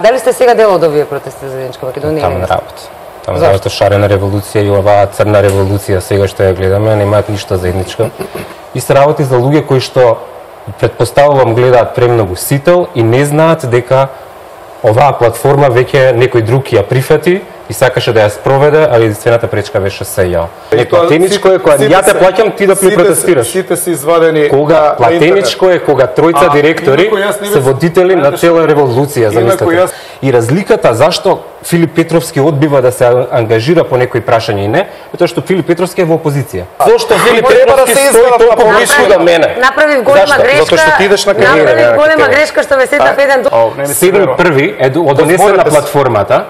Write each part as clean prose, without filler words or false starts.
Дали сте сега дел од овие протести за Заедничка Македонија? Таму на работа. Таму на работа шарена револуција и оваа црна револуција сега што ја гледаме немаат ништо заедничко. И се работи за луѓе кои што претпоставувам гледаат премногу сител и не знаат дека оваа платформа веќе некој друг ја прифати и сакаше да ја спроведе, али единствената пречка беше СЈ. Платеничко е кога ја те плаќам ти да протестираш. Сите се извадени кога платеничко е кога тројца директори се водители на цела револуција, замислете. И разликата зашто Филип Петровски одбива да се ангажира по некои прашања и не, тоа што Филип Петровски е во опозиција. Зошто Филип Петровски стои толку близко до мене? Направив голема грешка. Затоа што ти идеш на кариера. Направив голема грешка што ме сетна еден 7.1 е одонесена платформата.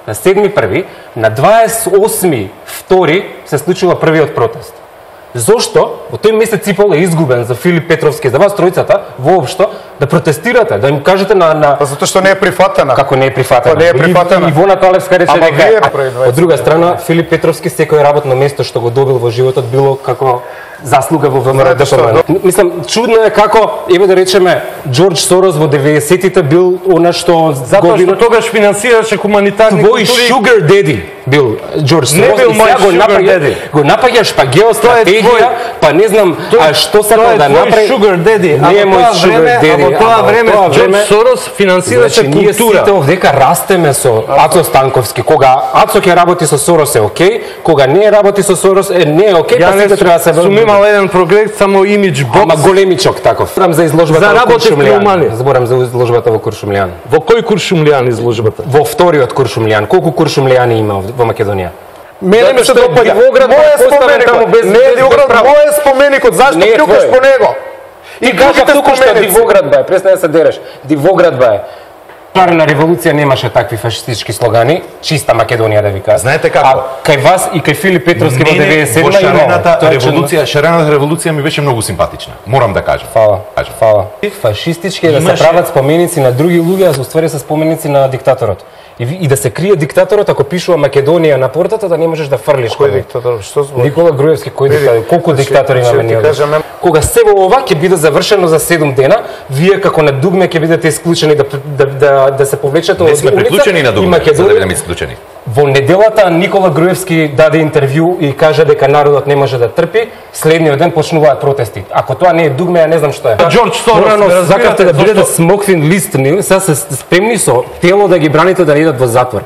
На 7.1, на 28.2 се случува првиот протест. Зошто во тој месец и пол е изгубен за Филип Петровски, за вас тројцата, воопшто, да протестирате, да им кажете на... Затоа што не е прифатена. Како не е прифатена? Не е прифатена. И Ивона Талевска рече дека... Од друга страна, Филип Петровски секој работно место што го добил во животот било како заслуга во ВМРО. Мислам, чудно е како, еве да речеме, Џорџ Сорос во 90-тите бил она што... Затоа што тогаш финансираше хуманитарни култури. Твој sugar daddy бил Џорџ Сорос. Не бил мој sugar daddy. Го напаѓаш па геостратегија, па не знам што сакал да направи. Sugar daddy. Не е мој sugar daddy. Во тоа време Џорџ Сорос финансираше култура. Ние сите овдека растеме со Ацо Станковски. Кога Ацо ќе работи со Сорос е окей, кога не работи со Сорос е не е окей, па сите треба да се имал еден проект само имидж бокс. Ама големичок таков. Зборам за изложбата во Куршумлијан. Зборам за изложбата во Куршумлијан. Во кој Куршумлијан изложбата? Во вториот Куршумлијан. Колку Куршумлијани има во Македонија? Мене ми се допаѓа. Моје споменикот. Не е Дивоград, моје споменикот. Зашто плюкаш по него? И кажа туку што Дивоград бе, престани да се дереш. Дивоград бе. Шарена револуција немаше такви фашистички слогани, чиста Македонија да ви кажам. Знаете како? Кај вас и кај Филип Петровски во 97-та шарената револуција ми беше многу симпатична. Морам да кажам. Фала. Фашистички е да се прават споменици на други луѓе, а уствари се споменици на диктаторот. И да се крие диктаторот ако пишува Македонија на портата, да не можеш да фрлиш. Кој диктатор? Што збори? Никола Груевски, кој диктатор? Колку диктатори имаме ние? Кога се во ова ќе биде завршено за 7 дена, вие како на дугме ќе бидете исклучени да се повлечете од улица. Не сме приклучени на дугме, за да бидеме исклучени. Во неделата Никола Груевски даде интервју и кажа дека народот не може да трпи, следниот ден почнуваат протести. Ако тоа не е дугме, ја не знам што е. Џорџ Сорос, сакавте да бидете смоквин лист, сега се спремни со тело да ги браните да не идат во затвор.